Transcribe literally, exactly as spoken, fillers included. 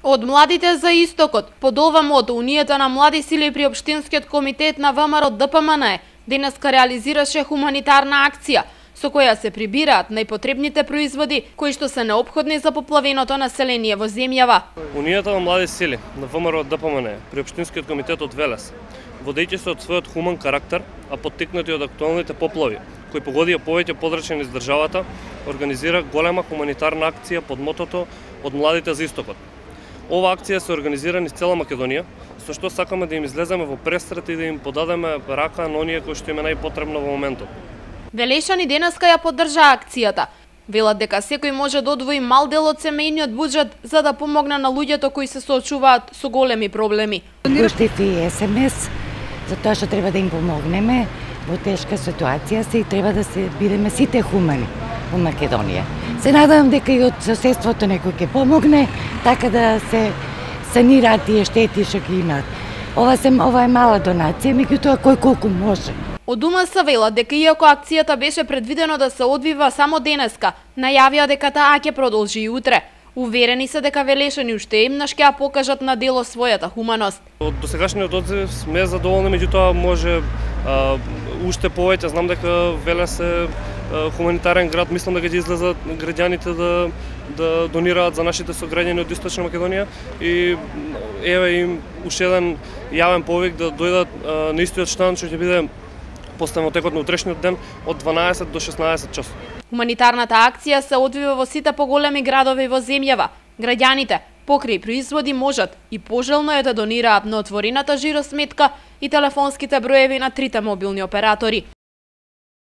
Од младите за истокот, под ова мото, Унијата на млади сили при Општинскиот комитет на ВМРО Д П М Н денеска реализираше хуманитарна акција, со која се прибираат најпотребните производи кои што се неопходни за поплавеното население во земјава. Унијата на млади сили на ВМРО Д П М Н при Општинскиот комитет од Велес, водејќи се од својот хуман карактер, а поттикнати од актуелните поплави, кои погодија повеќе подрачни низ државата, организира голема хуманитарна акција под мотото од младите за истокот. Ова акција се организира низ цела Македонија, со што сакаме да им излеземе во престрет и да им подадеме рака на оние кои што им е најпотребно во моментот. Велешани денеска ја поддржа акцијата. Велат дека секој може да одвои мал дел од семејниот буџет за да помогне на луѓето кои се соочуваат со големи проблеми. Пуштив и С М С, затоа што треба да им помогнеме во тешка ситуација се и треба да се бидеме сите хумани во Македонија. Се надевам дека и од соседството некој ќе помогне, така да се санираат тие штети што ги имаат. Ова, се, ова е мала донација, меѓутоа кој колку може. Од У М С велат дека иако акцијата беше предвидено да се одвива само денеска, најавија дека таа ќе продолжи и утре. Уверени се дека Велешани уште еднаш ќе ја покажат на дело својата хуманост. Од досегашниот одзив сме задоволни, меѓутоа може а, уште повеќе. Знам дека Велес е а, хуманитарен град, мислам дека ќе излезат граѓаните да да донираат за нашите сограѓани од Источна Македонија и еве им уште еден јавен повик да дојдат а, на истиот штанд што ќе биде поставен во текот на утрешниот ден од дванаесет до шеснаесет часот. Хуманитарната акција се одвива во сите поголеми градови во земјава. Граѓаните покрај производи можат и пожелно е да донираат на отворената жиросметка и телефонските броеви на трите мобилни оператори.